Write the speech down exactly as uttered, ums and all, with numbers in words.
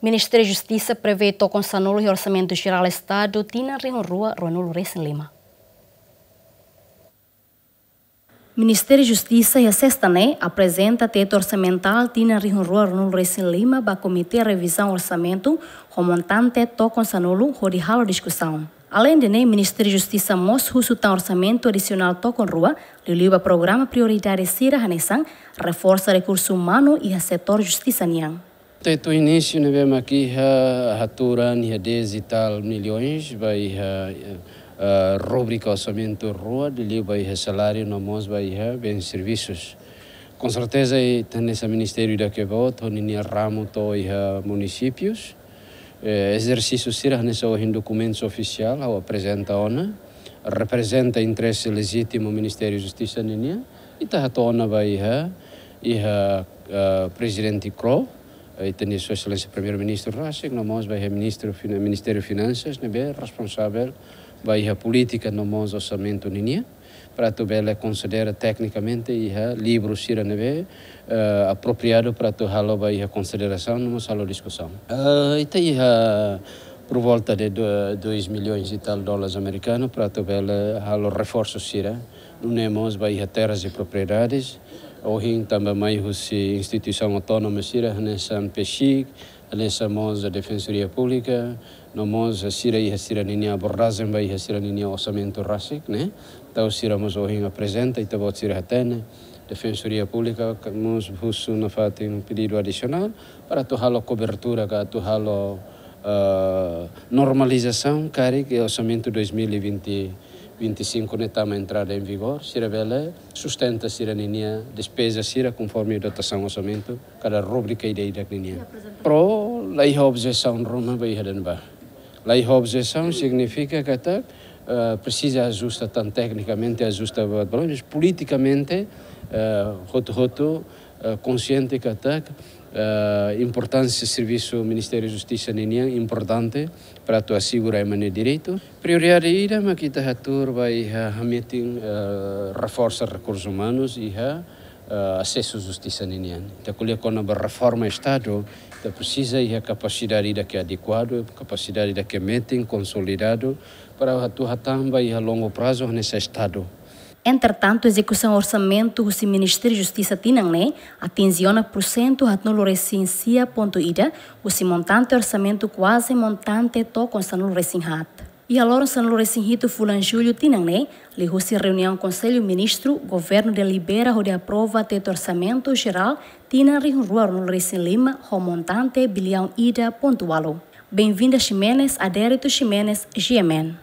Ministériu Justisa prevee tokon sanulu iha Orsamentu Jerál Estadu tinan rihun rua ruanulu resin lima. Ministériu Justisa iha sesta ne'e aprezenta tetu orsamentál tinan rihun rua ruanulu resin lima ba Komité Revizaun Orsamentu ho montante tokon sanulu hodi halo diskusaun. Aleinde ne'e, Ministériu Justisa mós husu tan orsamentu adisionál tokon rua, liuliu ba programa prioridade sira hanesan reforsa rekursu umanu iha setór justisa nian. Tetu inísiu ne'ebé mak iha haturan iha dez e tal milhões ba iha, eh, rúbrika orsamentu rua, liuliu ba iha saláriu no mós ba iha bens servisus. Com certeza, ita hanesan ministériu ida ke boot, ho ninia ramu to'o iha munisípius. Eh, ezersísiu sira hanesan ohin dokumentus ofisiál, ha'u aprezenta ona, reprezenta interese lejítimu Ministériu Justisa ninian, ita hato'o ona ba iha, iha, eh, Prezidente KRO, eh, ita-nia Sua Exelénsia Primeiru-Ministru rasik, no mós ba iha Ministru Fina-, Ministériu Finansas, ne'ebé responsavel ba iha polítika no mós orsamentu ninian, para atu bele konsidera teknikamente iha livru sira ne'ebé, eh, apropriadu para atu halo ba iha konsiderasaun no mós halo diskusaun. Eh, ita iha por volta de do-, dois milhões e tal dólares americanos para atu bele halo reforsu sira. Nune'e mós ba iha terras e propriedades, ohin tanba mai husi instituisaun autónoma sira, hanesan PCIC, hanesan mós Defensoria Públika, no mós sira iha sira ninia abordajen ba iha sira ninia orsamentu rasik, ne'e? Entaun sira mós ohin aprezenta, ita-boot sira hatene, Defensoria Públika ka mós husu nafatin pedidu adisionál para atu halo kobertura ka atu halo, eh, normalizasaun karik orsamentu dois mil e vinte, vinte e cinco ne'e tama entrada em vigor, sira bele sustenta sira ninia despeza sira konforme dotasaun orsamentu kada rúbrika ida-idak ninian. Pro la iha objesaun ruma ba iha ne'ebá. La iha objesaun signifika katak, eh, presiza ajusta tan teknikamente, ajusta ba, ba, politikamente, eh, hotu-hotu, eh, konsiente katak, eh, importánsia servisu Ministériu Justisa ninian importante para atu asegura ema nia direitu. Prioridade ida mak ita hatuur ba iha hametin, eh, reforsa rekursus umanus iha, eh, asesu justisa ninian. Ita ko'alia kona-ba reforma Estadu, ita presiza iha kapasidade ida ke adekuadu, kapasidade ida ke metin, konsolidadu, para atu hatán ba iha longu prazu hanesan Estadu. Entretantu, ezekusaun orsamentu husi Ministériu Justisa tinan ne'e atinje ona pursentu haatnulu resin sia pontu ida, husi montante orsamentu kuaze montante tokon sanulu resin haat. Iha loron sanulu resin hitu fulan Jullu tinan ne'e, liuhusi reuniaun Konsellu Ministru, Governu delibera hodi aprova tetu Orsamentu Jerál tinan rihun rua ruanulu resin lima ho montante biliaun ida pontu ualu. Benvinda Ximenes, Adérito Ximenes, G M N.